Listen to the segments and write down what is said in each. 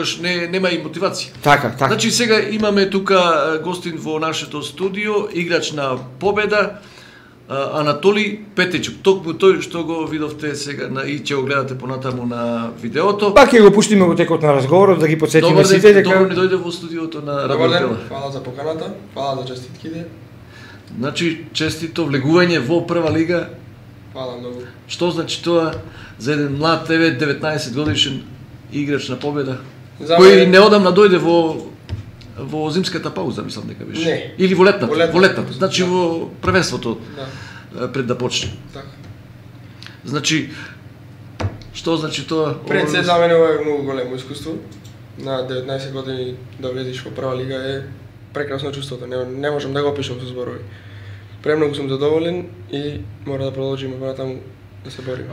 тогаш нема и мотивација. Така. Значи сега имаме тука гостин во нашето студио, играч на Победа, Анатоли Петечук. Токму тој што го видовте сега и ќе го гледате понатаму на видеото. Пак ќе го пуштиме во текот на разговорот да ги потсетиме сите дека добро ни дојде во студиото на Радио Пела. Фала за поканата, фала за честитките. Значи честито влегување во прва лига. Фала многу. Што значи тоа за еден млад 19 годишен играч на Победа? Кој неодамна дојде во зимската пауза, мислам дека беше. Не. Или во летната. Во летната. Да. Значи во првенството. Да. Пред да почне. Така. Значи што значи тоа? Пред се за мене ова е многу големо искуство. На 19 години да влезеш во прва лига е прекрасно чувството. Не можам да го опишам со зборови. Премногу сум задоволен и мора да продолжиме понатаму да се бориме.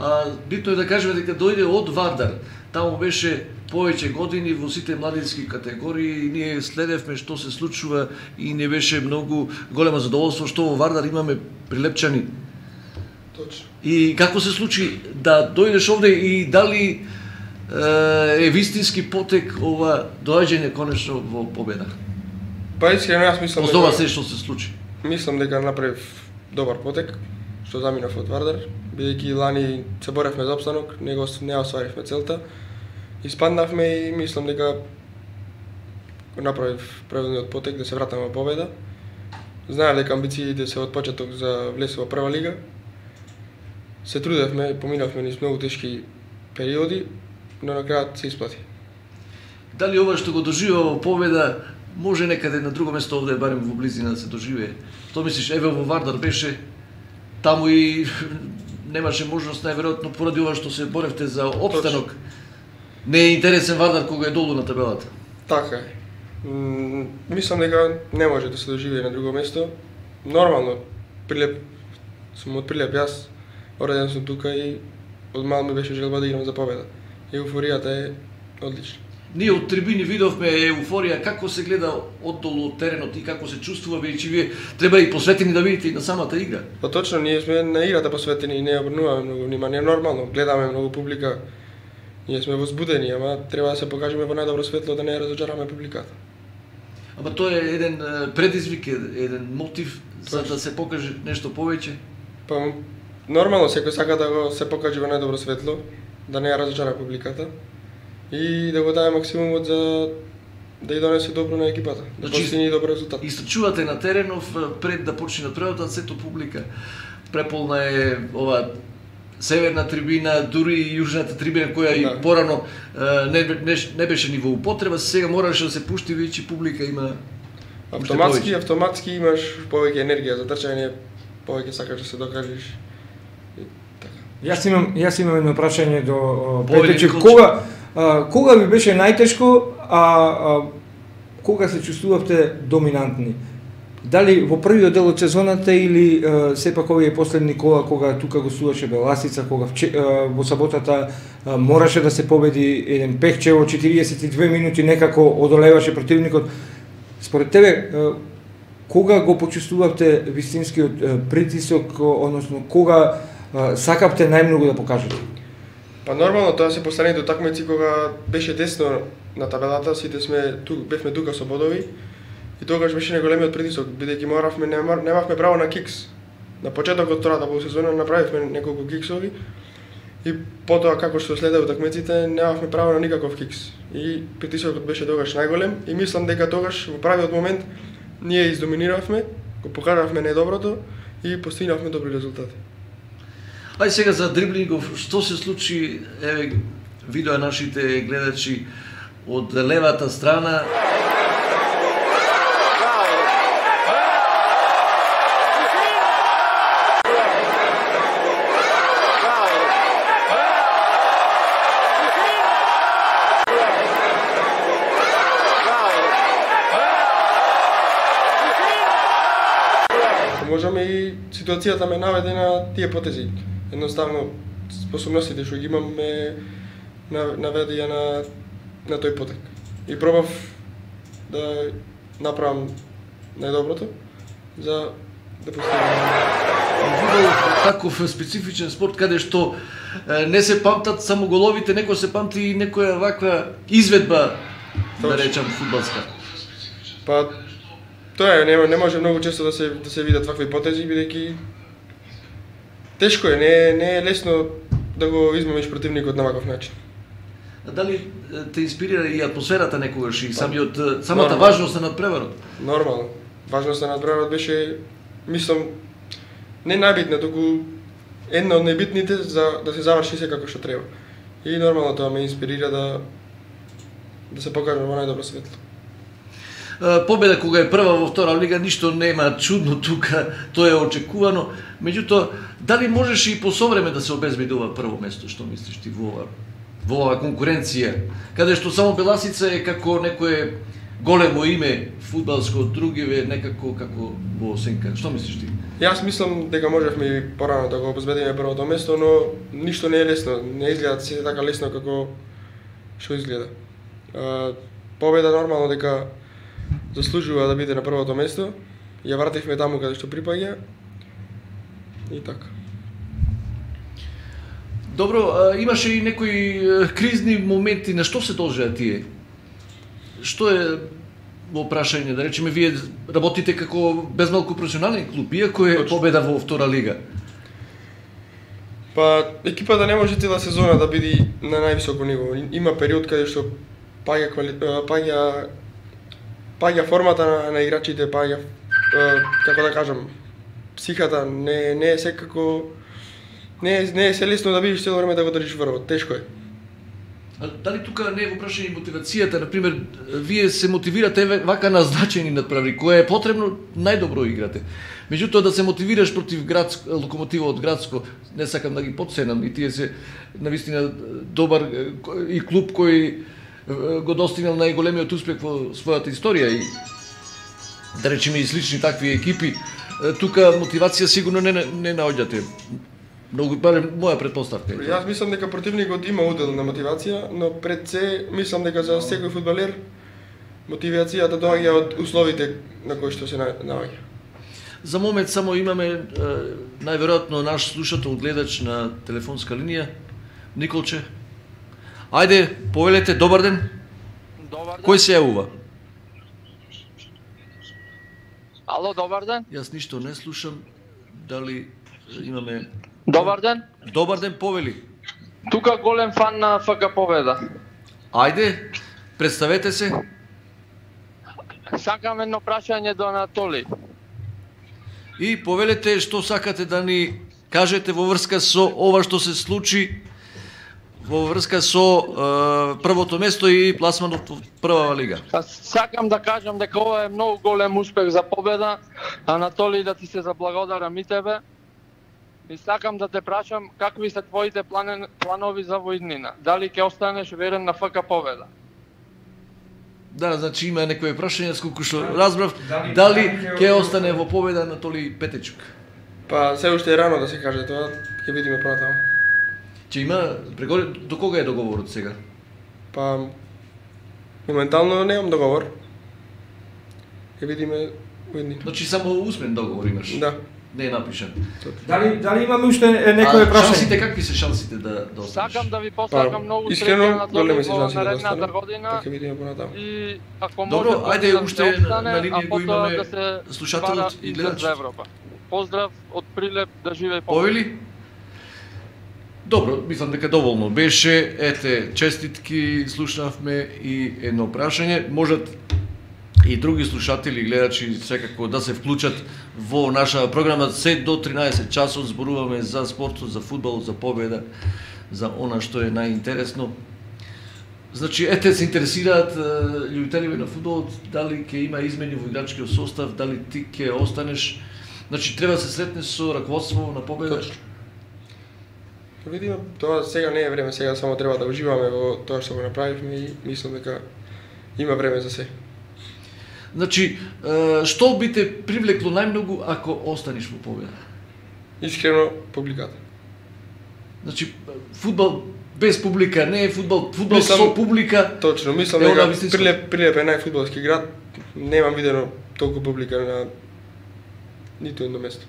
Битно е да кажеме дека дојде од Вардар. Таму беше повеќе години во сите младински категории и ние следевме што се случува и не беше многу големо задоволство што во Вардар имаме прилепчани. Точно. И како се случи да дојдеш овде и дали е вистински потек ова доаѓање конечно во Победа? Па искрено јас мислам Од ова се што се случи. Мислам дека направив добар потек, што заминав од Вардар, бидејќи лани се боревме за опстанок, не остваривме целта. Испаднавме и мислам дека направив правилниот потек да се вратам во Победа. Знаев дека амбициите се од почеток за влез во прва лига. Се трудевме, поминавме низ многу тешки периоди, но на крајот се исплати. Дали ова што го доживува во Победа може некаде на друго место овде барем во близина да се доживее? Што мислиш, еве во Вардар беше, таму и немаше можност најверојатно поради ова што се боревте за опстанок. Не е интересен Вардар кога е долу на табелата. Така е. Мислам дека не може да се доживее на друго место. Нормално, сум од Прилеп јас, роден сум тука и од мал ми беше желба да играм за Победа. Еуфоријата е одлична. Ние од трибини видовме еуфорија како се гледа оддолу од теренот и како се чувствува, бидејќи вие треба и посветени да видите и на самата игра. Па точно, ние сме на играта посветени и не обрнуваме многу внимание. Нормално, гледаме многу публика. Ние сме возбудени, ама треба да се покажеме во најдобро светло да не ја разочараме публиката. Ама тоа е еден предизвик, еден мотив за да се покаже нешто повеќе. Па нормално секој сака да го се покаже во најдобро светло, да не ја разочара публиката и да го даде максимумот за да ја донесе добро на екипата, да постигне добар резултат. Источувате на теренов пред да почне првата сето публика. Преполна е ова северна трибина, дури и јужната трибина која и порано не беше ни во употреба, сега мораше да се пушти веќе публика има. Автоматски имаш повеќе енергија за трчање, повеќе сакаш да се докажеш. Јас имам едно прашање до Петечек. Кога ви беше најтешко, кога се чувствувавте доминантни? Дали во првиот дел од сезоната или сепак овие последни кола кога тука гостуваше Беласица, кога во саботата мораше да се победи еден Пехче во 42 минути некако одолеваше противникот. Според тебе кога го почувствувавте вистинскиот притисок, односно кога сакавте најмногу да покажете? Па нормално тоа се последните утакмици кога беше десно на табелата, сите бевме тука со бодови. И тогаш беше најголемиот притисок, бидејќи немавме право на кикс. На почетокот втората полусезона направивме неколку киксови и потоа како што следеа утакмиците немавме право на никаков кикс. И притисокот беше тогаш најголем и мислам дека тогаш во правиот момент ние издоминиравме, го покажавме најдоброто и постигнавме добри резултати. Ајде сега за дриблингов, што се случи, еве видоа нашите гледачи од левата страна. Можеме и ситуацијата ме наведе на тие потези. Едноставно способностите што ги имаме наведе ја на тој потек. И пробав да направам најдоброто за да постигнем. Фудбал таков специфичен спорт каде што не се памтат само головите, некој се памти и некоја ваква изведба да речам фудбалска? Па тоа е, не може многу често да се видат такви потези, бидејќи тешко е, не е лесно да го измамиш противникот на ваков начин. А дали те инспирира и атмосферата некогаш и самата важност на надпреварот? Нормално. Важноста на надпреварот беше, мислам, не најбитна, туку една од најбитните за да се заврши секако што треба. И нормално тоа ме инспирира да се покажам во најдобро светло. Победа кога е прва во втора лига, ништо нема чудно тука, тоа е очекувано. Меѓутоа, дали можеш и по совреме да се обезбеди ова прво место, што мислиш ти во оваа конкуренција, каде што само Беласица е како некое големо име фудбалско, другиве некако како во сенка. Што мислиш ти? Јас мислам дека можевме и порано да го обезбедиме првото место, но ништо не е лесно, не изгледа се така лесно како што изгледа. Победа нормално дека заслужува да биде на првото место, ја вративме таму каде што припаѓа и така. Добро, имаше и некои кризни моменти, на што се должеа тие? Што е во прашање, да речеме, вие работите како безмалку професионален клуб, иако е победа во втора лига? Па, екипата не може цела сезона да биде на највисоко ниво. Има период каде што паѓа формата на играчите, паѓа, како да кажам, психата, не е секако, не е се лесно да бидеш цело време да го држиш врвот, тешко е. А дали тука не е во прашање мотивацијата, например, вие се мотивирате вака назначени надправи, кое е потребно, најдобро играте. Меѓутоа да се мотивираш против Локомотива од Градско, не сакам да ги потценам, и тие се навистина добар и клуб кој го достигнал најголемиот успех во својата историја и да речеме и слични такви екипи, тука мотивација сигурно не наоѓате. Многу барем моја претпоставка. Јас мислам дека противникот има удел на мотивација, но пред се мислам дека за секој фудбалер мотивацијата доаѓа од условите на кои што се наоѓа. За момент само имаме најверојатно наш слушател, гледач на телефонска линија, Николче. Ајде, повелете, добар ден. Добар ден. Кој се јавува? Ало, добар ден. Јас ништо не слушам. Дали имаме... Добар ден. Добар ден, повели. Тука голем фан на ФК Победа. Ајде, представете се. Сакам едно прашање до Анатоли. И повелете што сакате да ни кажете во врска со ова што се случи, во врска со првото место и пласманот во прва лига. Сакам да кажам дека ова е многу голем успех за Победа. Анатоли, да ти се заблагодарам и тебе. И сакам да те прашам какви се твоите планови за воиднина. Дали ќе останеш верен на ФК Победа? Да, значи има некои прашања, сколку што разбрав, дали ќе остане во Победа Анатоли Петечук? Па, се уште е рано да се каже тоа, ќе видиме понатаму. Че има до кога е договорот сега? Па, моментално немам договор. Ќе видиме воиднина. Значи само усмен договор имаш? Да. Не е напишан. Дали имаме уште некои прашања? Шансите, какви се шансите да останеш? Сакам да ви посакам многу искрено, среќа на големи се во шанси да наредната останам, година. па ќе видиме понатаму. И ако Добро, може ајде да уште остане, на линија а го потоа имаме да се слушателот бара и излез гледачот. за Европа. Поздрав од Прилеп, да живее Повели? Добро, мислам дека доволно беше. Ете, честитки, слушнавме и едно прашање. Можат и други слушатели и гледачи секако да се вклучат во наша програма. Се до 13 часот зборуваме за спортот, за фудбал, за победа, за она што е најинтересно. Значи, ете се интересираат љубителите на фудбалот, дали ќе има измени во играчкиот состав, дали ти ќе останеш. Значи, треба да се сретнеш со раководство на Победа. Ќе видиме, тоа сега не е време, сега само треба да уживаме во тоа што го направивме и мислам дека има време за се. Значи, што би те привлекло најмногу ако останеш во Победа? Искрено, публиката. Значи, фудбал без публика не е фудбал, фудбал со публика. Точно, мислам дека Прилеп е најфудбалски град, немам видено толку публика на ниту едно место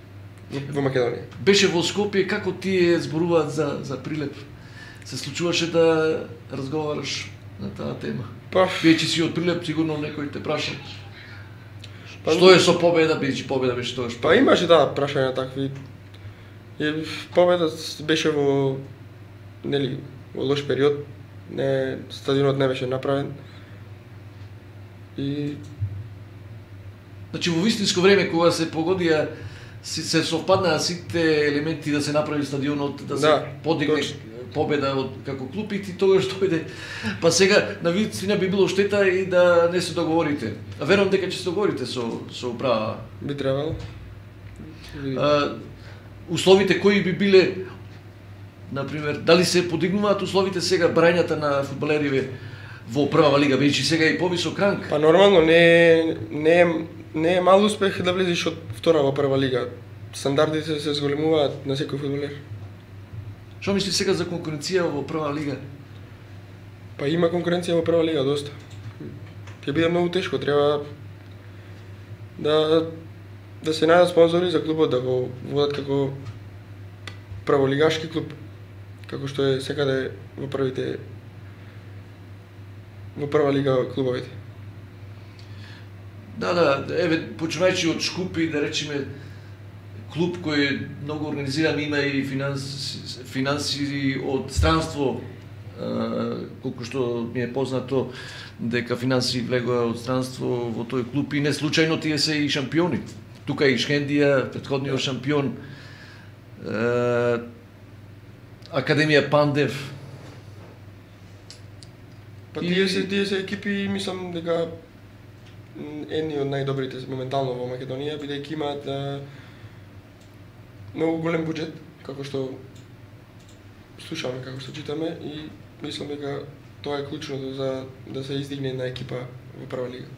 во Македонија. Беше во Скопје, како тие зборуваат за Прилеп? Се случуваше да разговараш на таа тема? Па, Биејќи си од Прилеп, сигурно некој те праша. Што е со победа, биејќи победа беше тоа што? Па имаше прашања такви. И победата беше во лош период. Стадионот не беше направен. И Значи во вистинско време кога се погодија се совпаднаа сите елементи да се направи стадионот, да се подигне победа од како клуб и тогаш дојде. Па сега на вистина би било штета и да не се договорите. А верувам дека ќе се договорите со управа. Би требало. Условите кои би биле, например, дали се подигнуваат условите сега брањата на фудбалериве во прва лига, бидејќи сега и повисок ранг? Па нормално не е мал успех да влезеш од втора во прва лига. Стандардите се зголемуваат на секој фудбалер. Што мисли сега за конкуренција во прва лига? Па има конкуренција во прва лига доста. Ќе биде многу тешко, треба да се најдат спонзори за клубот, да го водат како прволигашки клуб, како што е секаде во прва лига клубовите. Да, еве почнувајќи од Шкупи, да речеме клуб кој е многу организиран, има и финанси од странство, колку што ми е познато дека финанси влегоа од странство во тој клуб и не случајно тие се и шампиони. Тука и Шкендија, претходниот шампион, Академија Пандев. Па тие се екипи, мислам дека едни од најдобрите моментално во Македонија, бидејќи имаат многу голем буџет, како што слушаме, како што читаме, и мислам дека тоа е клучното за да се издигне една екипа во прва лига.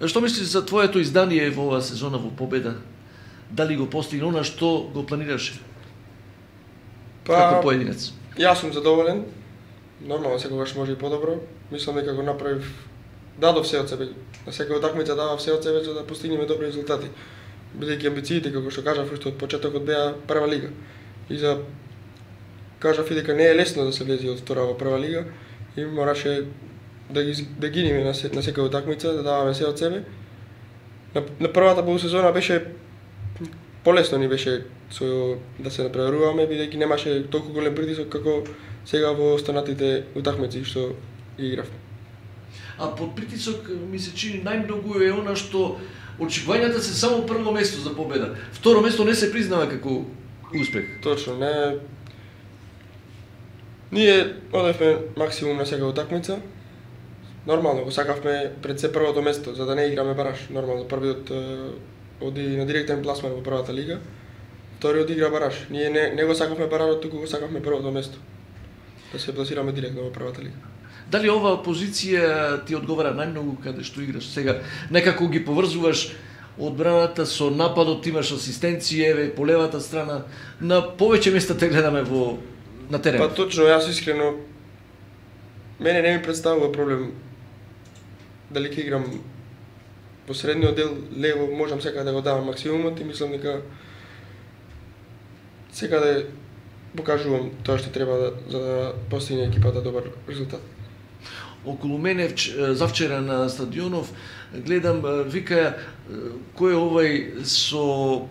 Што мислиш за твоето издание во оваа сезона во победа? Дали го постигна она што го планираше? Како поединец? Јас сум задоволен. Нормално секогаш може и подобро. Мислам дека го направив, дадов се од себе. На секоја утакмица давав се од себе за да постигнеме добри резултати. Бидејќи амбициите, како што кажав, уште од почетокот беа прва лига. И кажав и дека не е лесно да се влезе од втора во прва лига и мораше да гиниме на секоја утакмица, да даваме се од себе. На првата полусезона беше полесно ни беше да се напреваруваме, бидејќи немаше толку голем притисок како сега во останатите утакмици што игравме. А под притисок ми се чини најмногу е она што очекувањата се само прво место за победа. Второ место не се признава како успех. Точно, не. Ние одевме максимум на секоја утакмица. Нормално го сакавме пред се првото место, за да не играме бараш. Нормално првиот оди на директен пласман во првата лига. Вториот игра бараш. Ние не го сакавме баражот, туку го сакавме првото место. Да се пласираме директно во првата лига. Дали оваа позиција ти одговара најмногу каде што играш сега? Некако ги поврзуваш одбраната со нападот, имаш асистенција, еве по левата страна, на повеќе места те гледаме на терен. Па точно, јас искрено мене не ми представува проблем дали ќе играм во средниот дел лево, можам секаде да го давам максимумот и мислам дека секаде покажувам тоа што треба за да постигне екипата добар резултат. Околу мене завчера на стадионов гледам, вика, кој е овај со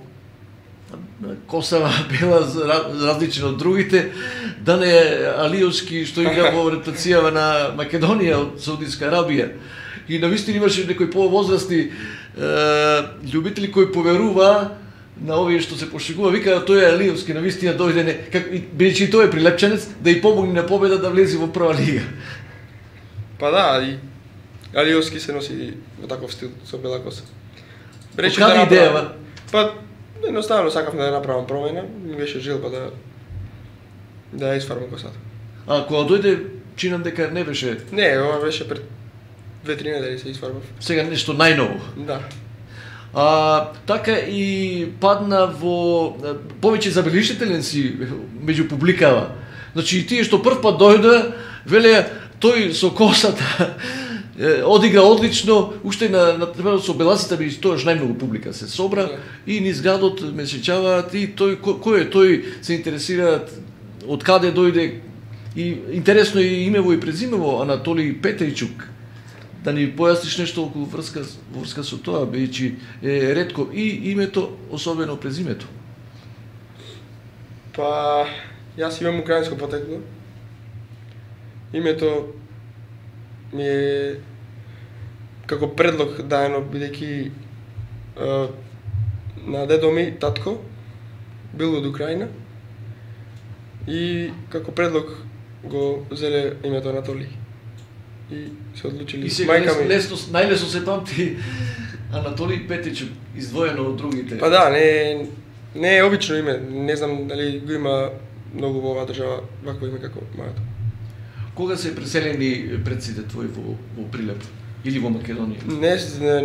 косава бела различен од другите, да не е Алиевски што игра во ротацијава на Македонија од Саудитска Арабија. И навистина имаше некои повозрастни љубители кои поверува на овие што се пошегува, вика тој е Алиевски, навистина дојде бидејќи тој е прилепчанец, да и помогне на победа да влезе во прва лига. Па да, и Алиевски се носи во таков стил со бела коса. Рече да идеја? Па едноставно сакавме да направам промена, ми беше желба да ја изфарбам косата. А кога дојде, чинам дека не беше. Не, ова беше пред 2-3 недели се изфарбав. Сега нешто најново. Да. Така и падна во повеќе забелишителен си меѓу публикава. Значи и тие што прв пат дојде, велеа тој со косата одигра одлично, уште на со беласите би тоаш најмногу публика се собра и низ градот ме сеќаваат и тој кој е тој, се интересираат од каде дојде, И интересно е имево и презимево Анатолий Петријчук. Да ни појасниш нешто околу врска со тоа, бидејќи е ретко и името, особено презимето. Па, јас имам украинско потекло. Името ми е како предлог даено, бидејќи на дедо ми, татко, бил од Украина и како предлог го зеле името Анатолий. И се одлучили И сега мајка ми. најлесно се памти Анатолий Петријчук, издвоено од другите. Па да, не е обично име, не знам дали го има многу во оваа држава вакво име како моето. Кога се преселени предците твои во Прилеп или во Македонија?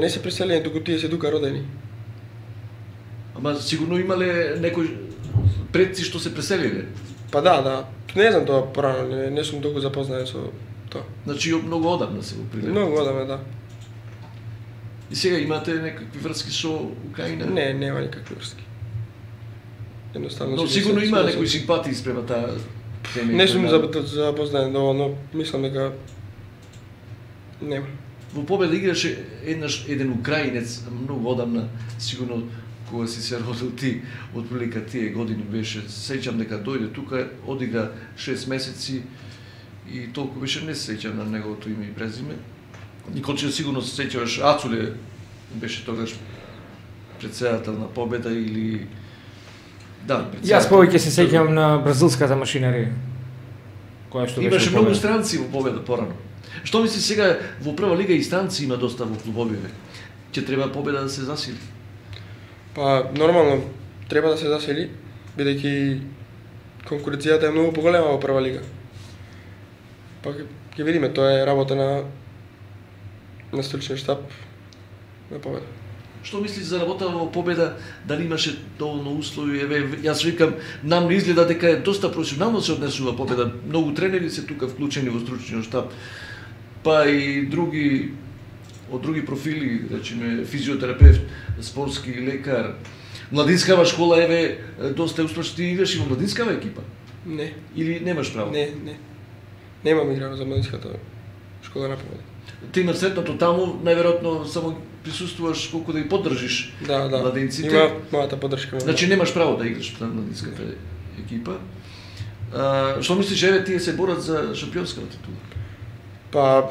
Не се преселени, туку тие се тука родени. Ама сигурно имале некои предци што се преселиле. Па да, не знам тоа порано, не сум толку запознаен со тоа. Значи многу одамна се во Прилеп. Многу одамна, да. И сега имате некакви врски со Украина? Не, нема никакви врски. Едноставно. Но сигурно има некои симпатии спрема таа тема. Не сум запознаен доволно, мислам дека нема. Во Победа играше еден украинец многу одамна, сигурно кога си се родил ти, отприлика тие години беше, сеќам дека дојде тука, одигра 6 месеци и толку беше не се сеќам на неговото име и презиме. Николче сигурно се сеќаваш, Ацуле беше тогаш председател на Победа или да, Јас повеќе се сеќавам на бразилската машинерија. Која што имаше многу странци во Победа порано. Што мисли сега во прва лига и странци има доста во клубовиве? Ќе треба Победа да се засили? Па нормално треба да се засели, бидејќи конкуренцијата е многу поголема во прва лига. Па ќе видиме, тоа е работа на стручниот штаб на Победа. Што мислиш за работа во Победа, дали имаше доволно услови? Еве, јас викам, нам не изгледа дека е доста професионално се однесува Победа. Многу тренери се тука вклучени во стручниот штаб. Па и од други профили, речеме физиотерапевт, спортски лекар. Младинскава школа, еве, доста е успешно. Ти играш и во младинскава екипа? Не. Или немаш право? Не. Немам играно за младинската школа на Победа. Ти на сретното таму, најверојатно само присуствуваш колку да ги поддржиш младинците. Има мојата поддршка. Значи немаш право да играш на младинската екипа. Што мислиш, еве тие се борат за шампионската титула? Па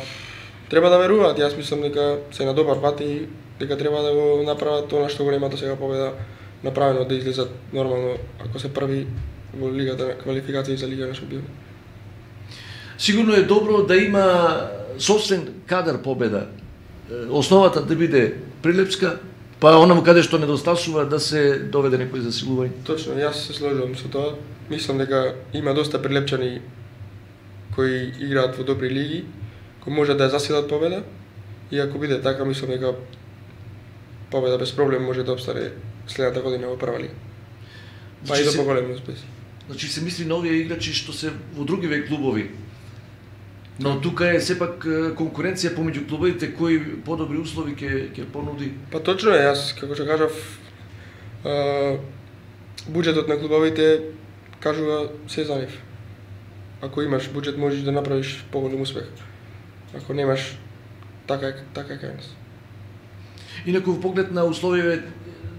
треба да веруваат, јас мислам дека се на добар пат и дека треба да го направат тоа што го немате сега Победа направено да излезат нормално ако се први во лигата на квалификации за Лига на шампиони. Сигурно е добро да има собствен кадар Победа. Основата да биде прилепска, па онаму каде што недостасува да се доведе некој засилување. Точно, јас се сложувам со тоа. Мислам дека има доста прилепчани кои играат во добри лиги, кои може да ја засилат Победа. И ако биде така, мислам дека Победа без проблем може да обстане следната година во прва лига. Па и до поголеми успеси. Значи се мисли на овие играчи што се во другиве клубови. Но тука е сепак конкуренција помеѓу клубовите кои подобри услови ќе понуди. Па точно е, јас како што кажав, буџетот на клубовите кажува се за нив. Ако имаш буџет можеш да направиш поголем успех. Ако немаш, така е кај нас. Инаку во поглед на условиве,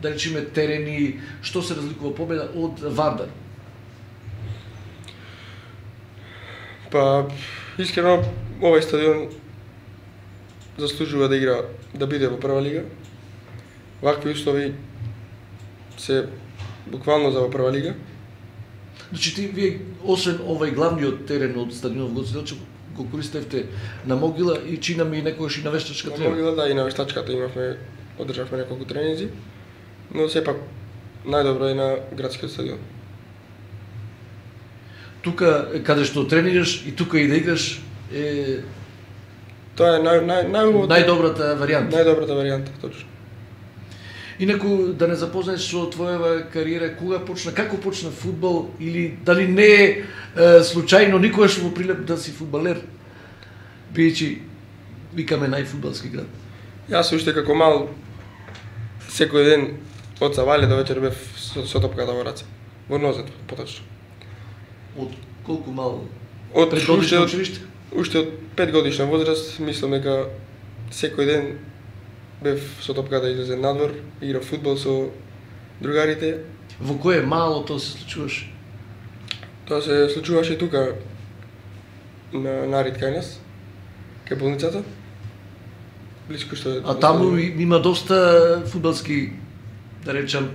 да речеме терени, што се разликува Победа од Вардар? Па искрено овој стадион заслужува да игра, да биде во прва лига. Вакви услови се буквално за во прва лига. Значи вие освен овој главниот терен од стадионот во Гоце Делчев го користевте на Могила и чинаме и некогаш и на Вештачка На трева. Могила, да, и на Вештачката одржавме неколку тренинзи, но сепак најдобро е на градскиот стадион. Тука каде што тренираш и тука и да играш е Тоа е најдобрата варијанта. Најдобрата варијанта, точно. Инаку да не запознаеш со твојава кариера, кога почна, како почна фудбал или дали не е случајно никогаш во Прилеп да си фудбалер, бидејќи викаме најфудбалски град. Јас уште како мал секој ден од савале до вечер бев со топката во раце. Во нозет, поточно. Од колку мал? Предгодишно училиште? Уште од 5 годишна возраст, мислам дека секој ден бев со топка да излезем надвор, играв фудбал со другарите. Во кое мало тоа се случуваше? Тоа се случуваше тука на Нарид кај нас, кај болницата. Блиску што А таму има доста фудбалски, да речам,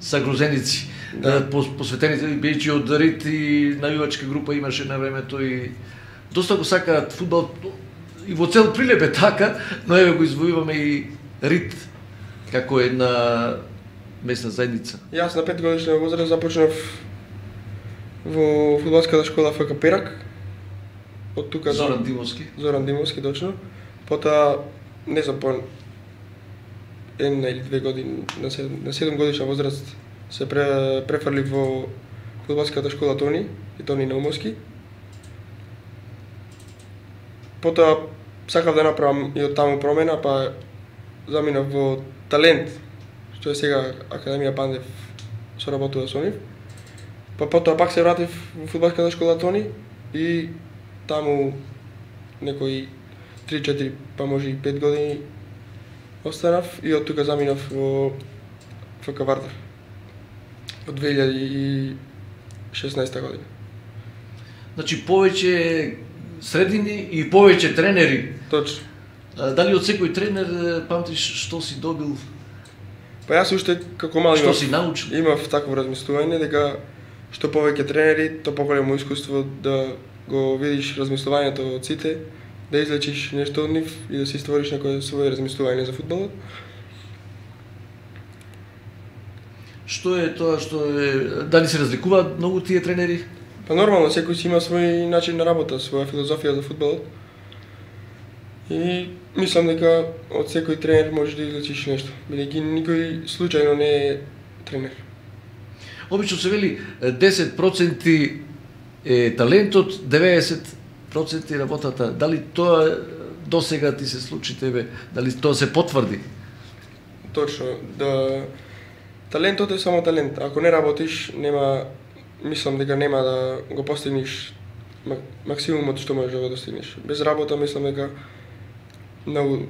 загрозеници. Да. Посветените бејќи од Рит и навивачка група имаше на времето и доста го сакаат фудбал и во цел Прилеп е така, но еве го извојуваме и Рит како една местна заедница. Јас на 5 годишна возраст започнав во фудбалската школа ФК Перак. Од тука Зоран Димовски. Зоран Димовски точно. Потоа не знам по една или 2 години на 7 годишна возраст се префрлив во фудбалската школа Тони и Тони Наумовски. Потоа сакав да направам и од таму промена, па заминав во Талент, што е сега Академија Пандев, соработува со нив. Па потоа пак се вратив во фудбалската школа Тони и таму некои 3-4, па може и 5 години останав и од тука заминав во ФК Вардар од 2016 година. Значи повеќе средини и повеќе тренери. Точно. Дали од секој тренер памтиш што си добил? Па јас уште како мал Што си научил? имав такво размислување дека што повеќе тренери, то поголемо искуство да го видиш размислувањето од сите, да излечиш нешто од нив и да си створиш некое свое размислување за фудбалот. Што е тоа што е, дали се разликуваат многу тие тренери? Па нормално, секој си има свој начин на работа, своја филозофија за фудбалот. И мислам дека од секој тренер можеш да излечиш нешто, бидејќи никој случајно не е тренер. Обично се вели 10% е талентот, 90% работата. Дали тоа досега ти се случи тебе? Дали тоа се потврди? Точно, да талентот е само талент. Ако не работиш, мислам дека нема да го постигнеш максимумот што можеш да го достигнеш. Без работа мислам дека многу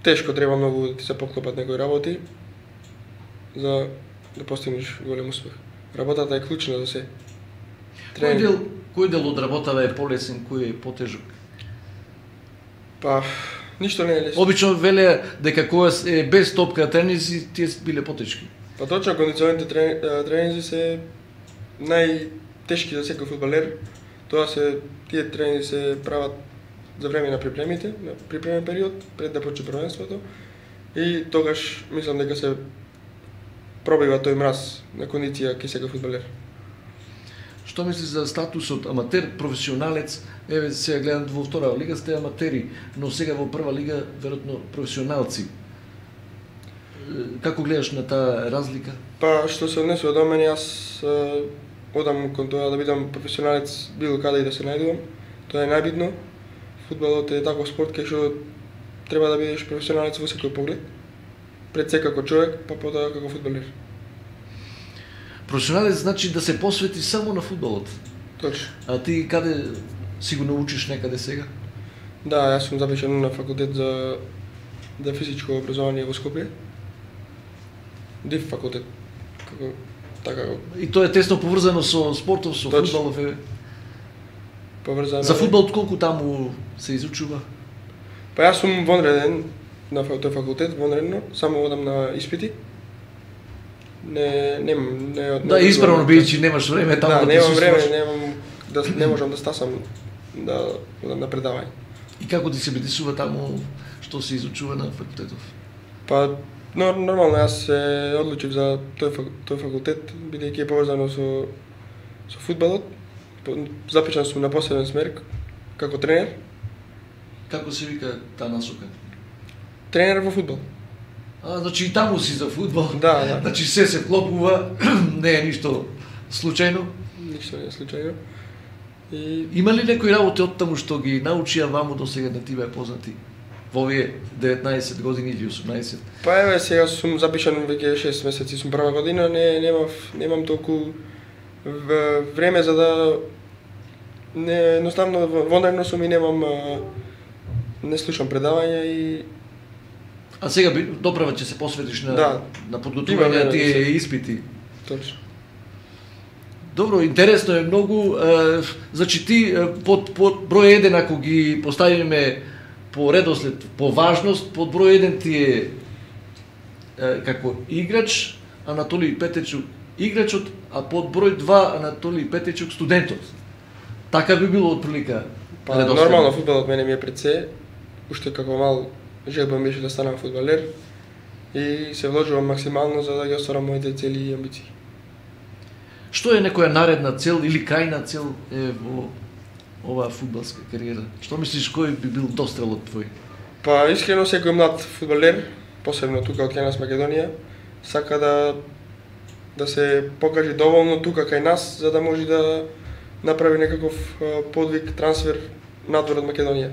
тешко треба многу да ти се поклопат некои работи за да постигнеш голем успех. Работата е клучна за се. Кој дел од работата е полесен, кој е потежок? Па, ништо не е лесно. Обично веле дека кога е без топка тренинзи, тие биле потешки. Па точно, кондиционите тренинзи се најтешки за секој фудбалер. Тие тренинзи се прават за време на припремите, на припремен период, пред да почне првенството. И тогаш мислам дека се пробива тој мраз на кондиција кај секој фудбалер. Што мислиш за статусот аматер, професионалец? Еве сега гледам во втора лига сте аматери, но сега во прва лига веројатно професионалци. Како гледаш на таа разлика? Па што се однесува до мене, јас одам кон тоа да бидам професионалец било каде и да се најдувам. Тоа е најбитно. Фудбалот е таков спорт кај што треба да бидеш професионалец во секој поглед. Пред се како човек, па потоа како фудбалер. Професионалец значи да се посвети само на фудбалот. Точно. А ти каде сигурно учиш некаде сега? Да, јас сум запишан на факултет за физичко образование во Скопје. ДИФ факултет. Така. И тоа е тесно поврзано со спортов, со Точно. фудбалов. Поврзано. За фудбал колку таму се изучува? Па јас сум вонреден на тој факултет, вонредно, само одам на испити. Да, исправно бидејќи немаш време таму да немам време, присуствуваш. не можам да стасам да одам на предавање. И како ти се битисува таму што се изучува на факултетов? Па нормално јас се одлучив за тој факултет бидејќи е поврзано со фудбалот. Запишан сум на посебен смер како тренер. Како се вика таа насока? Тренер во фудбал. Значи и таму си за фудбал. Да. Значи се вклопува, не е ништо случајно. Ништо не е случајно. И Има ли некои работи од таму што ги научија ваму до сега да ти беа познати? Во овие 19 години или 18? па еве сега сум запишан веќе 6 месеци, сум прва година, немам толку време за да Не, едноставно вонредно сум и не слушам предавања и А сега доправа ќе се посветиш на Да. на подготвување на тие испити. точно. Добро, интересно е многу. Значи ти под број 1 ако ги поставиме по редослед, по важност, под број 1 ти е како играч Анатолиј Петечук играчот, а под број 2 Анатолиј Петечук студентот. Така би било отприлика. Па нормално фудбалот мене ми е пред се. Уште како мал желба ми беше да станам фудбалер и се вложувам максимално за да ги остварам моите цели и амбиции. Што е некоја наредна цел или крајна цел во оваа фудбалска кариера? Што мислиш кој би бил дострелот твој? Па искрено секој млад фудбалер, посебно тука од кај нас Македонија, сака да се покаже доволно тука кај нас за да може да направи некаков подвиг, трансфер надвор од Македонија.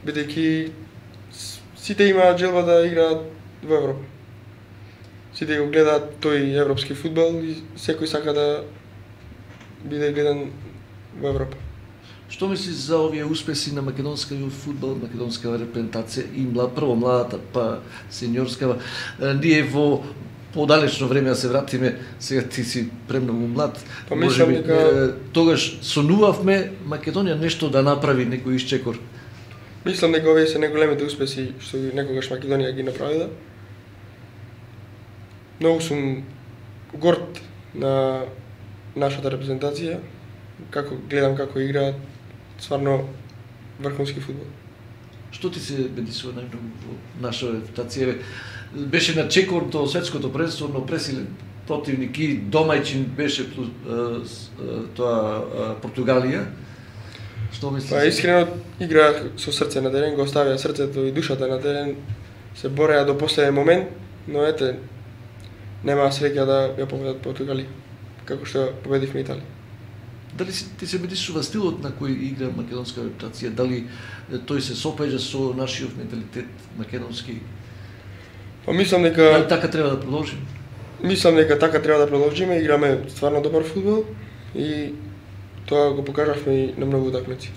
Бидејќи сите имаат желба да играат во Европа. Сите го гледаат тој европски фудбал и секој сака да биде гледан во Европа. Што мислиш за овие успеси на македонскиот фудбал, македонска репрезентација и прво младата, па сениорскава? Ние во подалечно време да се вратиме, сега ти си премногу млад. Па мислам дека тогаш сонувавме Македонија нешто да направи некој исчекор. Мислам дека овие се најголемите успеси што некогаш Македонија ги направила. Многу сум горд на нашата репрезентација, како гледам како играат стварно врхунски фудбал. Што ти се бедисува најмногу во наша репутација? Беше на чекор до светското првенство, но пресилен противник и домајчин беше тоа Португалија. Што мислиш? Па искрено играат со срце на терен, го оставија срцето и душата на терен, се бореа до последен момент, но ете немаа среќа да ја победат Португалија, како што победивме Италија. Дали ти се бедисува стилот на кој игра македонска репутација? Дали тој се сопаѓа со нашиот менталитет македонски? Па мислам дека Дали така треба да продолжиме? Мислам дека така треба да продолжиме, играме стварно добар фудбал и тоа го покажавме и на многу утакмици.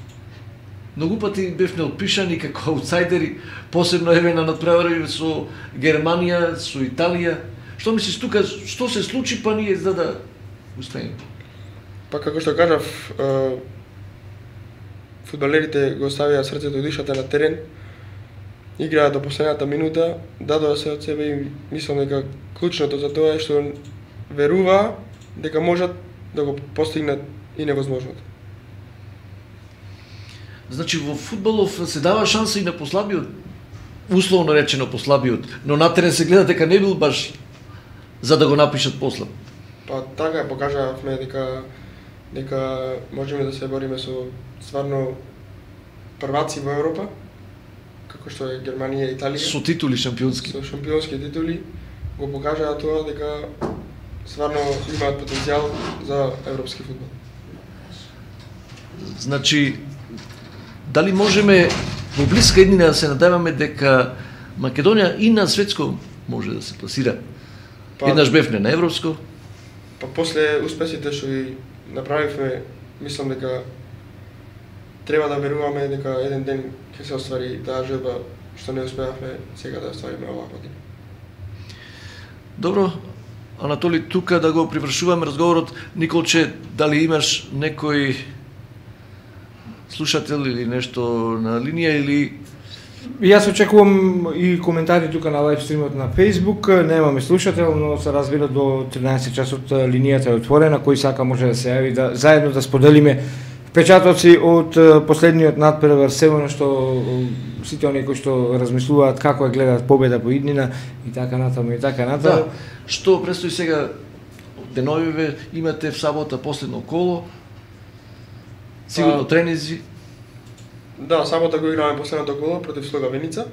Многу пати бевме отпишани како аутсайдери, посебно еве на надпревари со Германија, со Италија. Што мислиш тука, што се случи па ние за да успееме? Па како што кажав, фудбалерите го ставија срцето и душата на терен, играат до последната минута, дадоа се од себе и мислам дека клучното за тоа е што верува дека можат да го постигнат и невозможното. Значи во фудбалов се дава шанса и на послабиот, условно речено послабиот, но на терен се гледа дека не бил баш за да го напишат послаб. Па така покажавме дека можеме да се бориме со стварно прваци во Европа, како што е Германија и Италија. Со титули шампионски. Со шампионски титули го покажаа тоа дека стварно имаат потенцијал за европски фудбал. Значи, дали можеме во блиска иднина да се надеваме дека Македонија и на светско може да се пласира? Еднаш бевме на европско. Па после успесите што ги направивме, мислам дека треба да веруваме дека еден ден ќе се оствари таа желба што не успеавме сега да оствариме оваа година. Добро, Анатоли, тука да го привршуваме разговорот. Николче, дали имаш некој слушател или нешто на линија или... Јас очекувам и коментари тука на лайв стримот на Facebook. Немаме слушател, но се разбира до 13 часот линијата е отворена, кој сака може да се јави да заедно да споделиме впечатоци од последниот надпревар, севено што сите оние кои што размислуваат како ја гледаат победа по иднина и така натаму и така натаму. Да. Што престои сега деновиве, имате в сабота последно коло. Сигурно тренинзи. Да, сабота го играме последното коло против Слога Виница.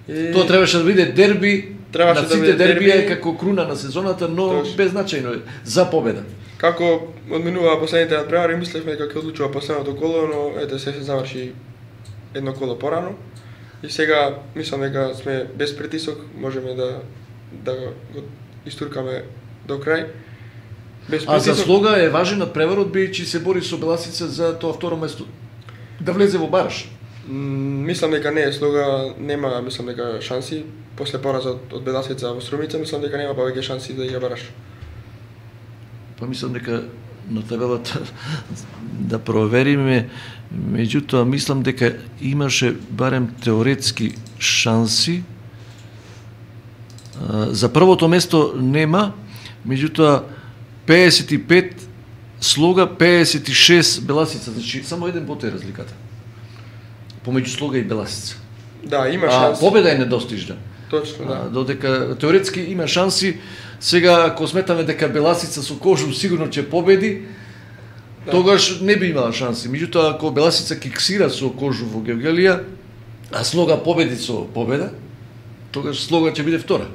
И... Тоа требаше да биде дерби, требаше на сите да биде дерби е дерби како круна на сезоната, но Точно. беззначајно е за победа. Како одминуваа последните надпревари, мислевме дека ќе одлучува последното коло, но ете се заврши едно коло порано. И сега мислам дека сме без притисок, можеме да го истуркаме до крај. Без А за притисок. Слога е важен надпреварот, бидејќи се бори со Беласица за тоа второ место. Да влезе во бараш. Мислам дека не е Слога, нема, мислам дека шанси после поразот од Беласица во Струмица, мислам дека нема повеќе шанси да игра бараш. Па мислам дека на табелата да провериме, меѓутоа мислам дека имаше барем теоретски шанси. За првото место нема, меѓутоа 55 Слога, 56 Беласица, значи само еден бот е разликата. Помеѓу Слога и Беласица. Да, има А шанси. победа е недостижна. Точно, да. Додека теоретски има шанси, сега ако сметаме дека Беласица со Кожу сигурно ќе победи, тогаш не би имала шанси. Меѓутоа ако Беласица киксира со Кожу во Гевгелија, а Слога победи со победа, тогаш Слога ќе биде втора.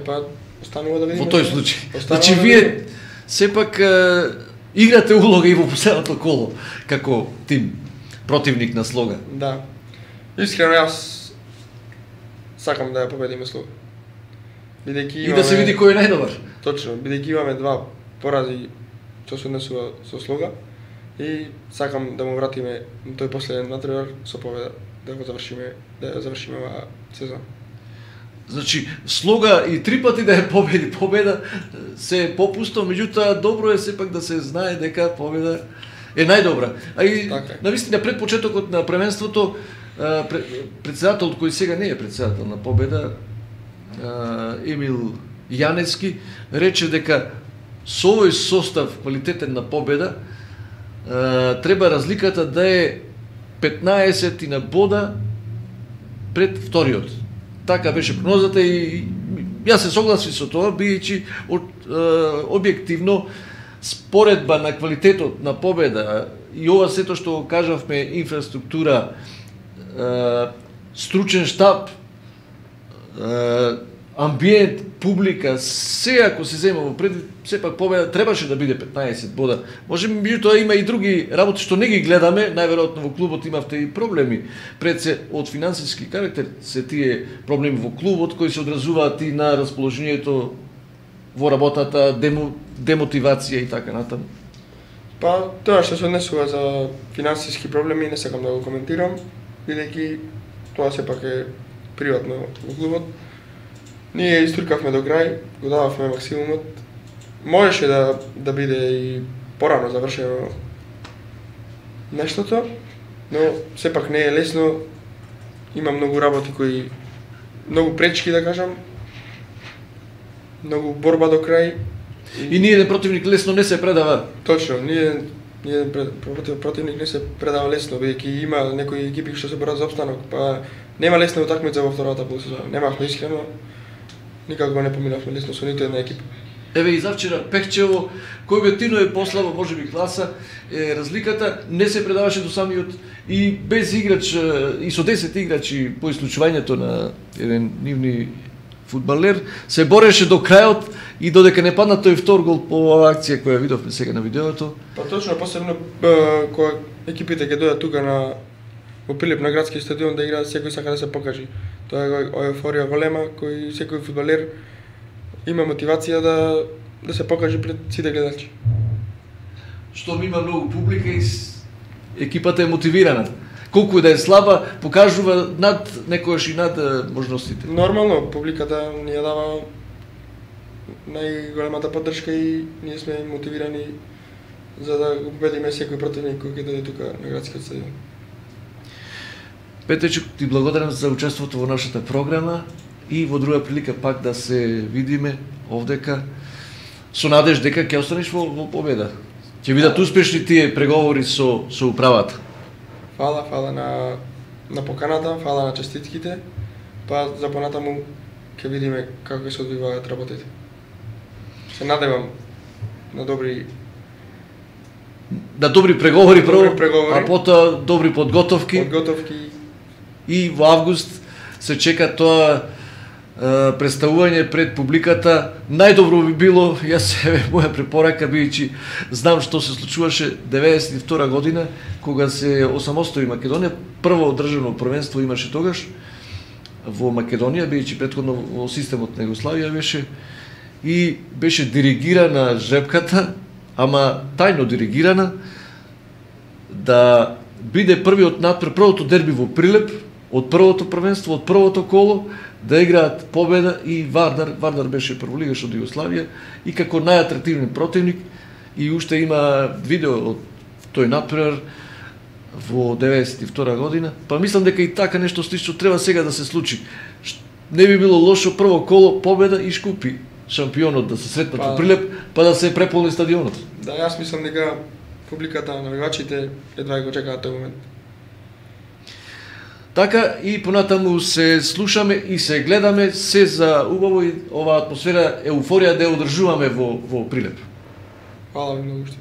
Па останува да видиме. Во тој случај. Останува Значи да вие видиме. сепак играте улога и во последното коло како тим противник на Слога. Да. Искрено јас сакам да ја победиме Слога. Бидејќи И да се види кој е најдобар. Точно, бидејќи имаме два порази што се однесува со Слога и сакам да му вратиме на тој последен надпревар со победа, да го завршиме, да ја завршиме оваа сезона. Значи, Слога и три пати да ја победи победа се попусто, меѓутоа добро е сепак да се знае дека победа е најдобра. А и Така е. навистина пред почетокот на првенството председателот кој сега не е председател на победа, Емил Јанецки, рече дека со овој состав квалитетен на победа треба разликата да е 15 на бода пред вториот. Така беше прогнозата и јас се согласив со тоа, бидејќи објективно споредба на квалитетот на победа и ова сето што кажавме, инфраструктура, стручен штаб, амбиент, публика, се ако се зема во предвид, сепак победа требаше да биде 15 бода. Може би меѓутоа има и други работи што не ги гледаме, најверојатно во клубот имавте и проблеми. Пред се од финансиски карактер се тие проблеми во клубот кои се одразуваат и на расположението во работата, демотивација и така натаму. Па тоа што се однесува за финансиски проблеми не сакам да го коментирам, бидејќи тоа сепак е приватно во клубот. Ние истркавме до крај, го дававме максимумот. Можеше да биде и порано завршено нештото, но сепак не е лесно. Има многу работи кои многу пречки да кажам. Многу борба до крај. И ниеден противник лесно не се предава. Точно, ниеден противник не се предава лесно, бидејќи има некои екипи што се борат за опстанок, па нема лесна утакмица во втората полусезона. Немавме искрено, никако не поминавме лесно со ниту една екипа. Еве и завчера Пехчево, кој објективно е послабо, можеби класа, разликата не се предаваше до самиот и без играч и со 10 играчи по исклучувањето на еден нивни фудбалер се бореше до крајот и додека не падна тој втор гол по оваа акција која видовме сега на видеото. Па точно, посебно кога екипите ќе дојдат тука на во Пилип на градски стадион да играат, секој сака да се покажи. Тоа е еуфорија голема, кој секој фудбалер има мотивација да се покаже пред сите гледачи. Што има многу публика и екипата е мотивирана. Колку да е слаба, покажува над некојаш и над можностите. Нормално, публиката ни ја дава најголемата поддршка и ние сме мотивирани за да го победиме секој противник кој ќе дојде тука на градскиот стадион. Петечко, ти благодарам за учеството во нашата програма и во друга прилика пак да се видиме овдека со надеж дека ќе останеш во победа. Ќе бидат успешни тие преговори со управата. Фала на поканата, фала на честитките, па за понатаму ќе видиме како се одвиваат работите. Се надевам на добри преговори прво, преговори. а потоа добри подготовки. И во август се чека тоа представување пред публиката. Најдобро би било, јас моја препорака, бидејќи знам што се случуваше 92 година кога се осамостои Македонија, прво државно првенство имаше тогаш во Македонија, бидејќи претходно во системот на Југославија беше, и беше диригирана жепката, ама тајно диригирана, да биде првиот надпред, првото дерби во Прилеп, од првото првенство, од првото коло, да играат победа и Вардар беше прволигаш од Југославија и како најатрактивен противник, и уште има видео од тој надпревар во 92 година, па мислам дека и така нешто слично треба сега да се случи. Не би било лошо прво коло победа и Шкупи шампионот да се сретнат во Прилеп, па да се преполни стадионот. Да, јас мислам дека публиката на навигачите едва го чекаат тој момент. Така и понатаму се слушаме и се гледаме се за убаво и оваа атмосфера, еуфорија да ја одржуваме во Прилеп. Фала ви многу што.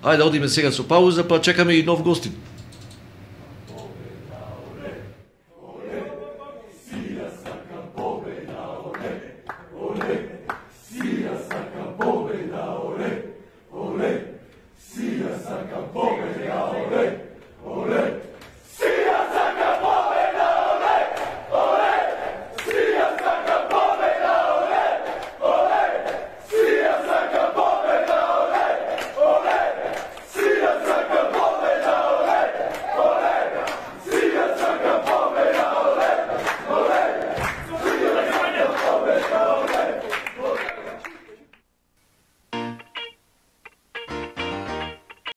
Ајде одиме сега со пауза, па чекаме и нов гостин.